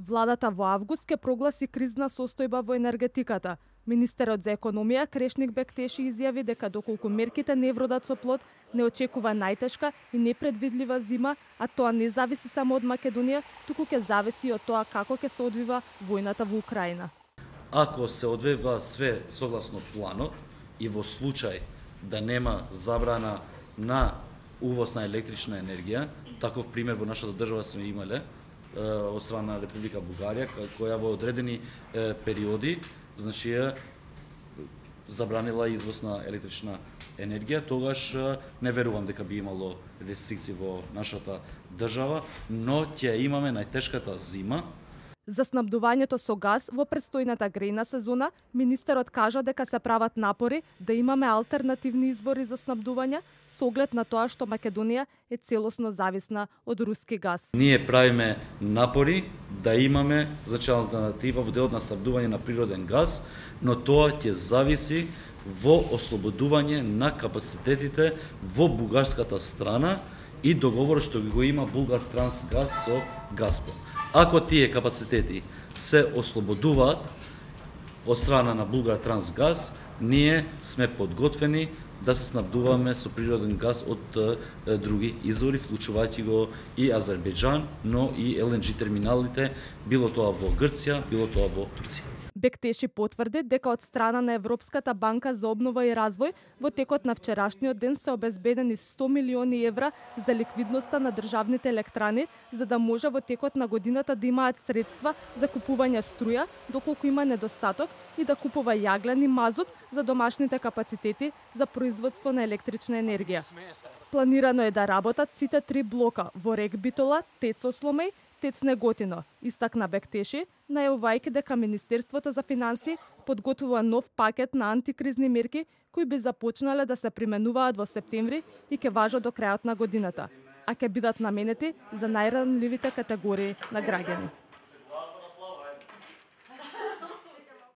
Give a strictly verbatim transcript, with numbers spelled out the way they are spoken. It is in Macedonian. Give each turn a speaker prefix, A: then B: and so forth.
A: Владата во август ќе прогласи кризна состојба во енергетиката. Министерот за економија Крешник Бектеши изјави дека доколку мерките не вродат со плод, не очекува најтешка и непредвидлива зима, а тоа не зависи само од Македонија, туку ќе зависи од тоа како ќе се одвива војната во Украина.
B: Ако се одвива све согласно планот и во случај да нема забрана на увоз на електрична енергија, таков пример во нашата држава сме имале од страна на Република Бугарија, која во одредени периоди, значи ја забранила извоз на електрична енергија, тогаш не верувам дека би имало рестрикции во нашата држава, но ќе имаме најтешката зима.
A: За снабдувањето со газ во престојната грејна сезона, министерот кажа дека се прават напори да имаме алтернативни извори за снабдување, со оглед на тоа што Македонија е целосно зависна од руски газ.
B: Ние правиме напори да имаме значи алтернатива во делот на снабдување на природен газ, но тоа ќе зависи во ослободување на капацитетите во бугарската страна и договор што го има Булгартрансгаз со Газпром. Ако тие капацитети се ослободуваат од страна на Булгартрансгаз, ние сме подготвени да се снабдуваме со природен газ од е, други извори, вклучувајќи го и Азербејџан, но и Ел Ен Џи терминалите, било тоа во Грција, било тоа во Турција.
A: Бектеши потврди дека од страна на Европската банка за обнова и развој во текот на вчерашниот ден се обезбедени сто милиони евра за ликвидноста на државните електрани, за да може во текот на годината да имаат средства за купување струја, доколку има недостаток, и да купува јаглен и мазут за домашните капацитети за производство на електрична енергија. Планирано е да работат сите три блока во Рек Битола, Тец Осломеј, Тец Неготино, истакна Бектеши, најавувајќи дека Министерството за финансии подготвува нов пакет на антикризни мерки кои би започнале да се применуваат во септември и ќе важат до крајот на годината, а ќе бидат наменети за најранливите категории на граѓани.